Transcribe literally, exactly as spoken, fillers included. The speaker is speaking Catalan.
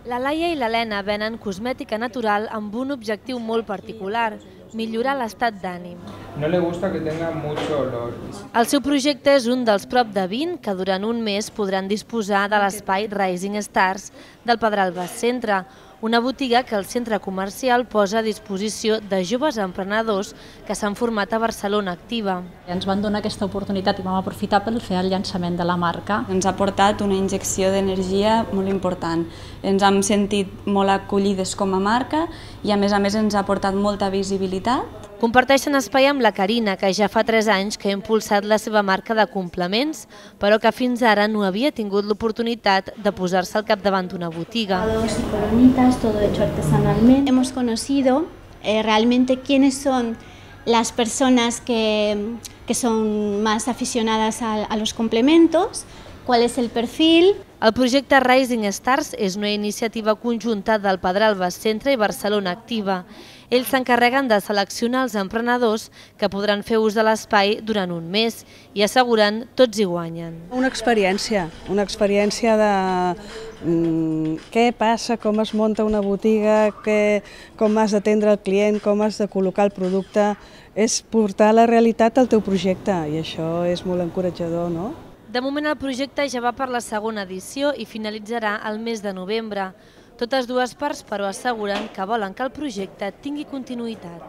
La Laia i l'Helena venen cosmètica natural amb un objectiu molt particular, millorar l'estat d'ànim. No le gusta que tenga mucho olor. El seu projecte és un dels prop de vint que durant un mes podran disposar de l'espai Rising Stars del Pedralbes Centre, una botiga que el centre comercial posa a disposició de joves emprenedors que s'han format a Barcelona Activa. Ens van donar aquesta oportunitat i vam aprofitar per fer el llançament de la marca. Ens ha portat una injecció d'energia molt important. Ens hem sentit molt acollides com a marca i a més a més ens ha portat molta visibilitat. Comparteixen espai amb la Carina, que ja fa tres anys que ha impulsat la seva marca de complements, però que fins ara no havia tingut l'oportunitat de posar-se al capdavant d'una botiga. Y coronitas, todo hecho artesanalmente. Hemos conocido eh, realmente quiénes son las personas que, que son más aficionadas a, a los complementos, cuál es el perfil. El projecte Rising Stars és una iniciativa conjunta del Pedralbes Centre i Barcelona Activa. Ells s'encarreguen de seleccionar els emprenedors que podran fer ús de l'espai durant un mes i asseguren tots hi guanyen. Una experiència, una experiència de mm, què passa, com es munta una botiga, què, com has d'atendre el client, com has de col·locar el producte. És portar la realitat al teu projecte i això és molt encoratjador, no? De moment el projecte ja va per la segona edició i finalitzarà el mes de novembre. Totes dues parts, però, asseguren que volen que el projecte tingui continuïtat.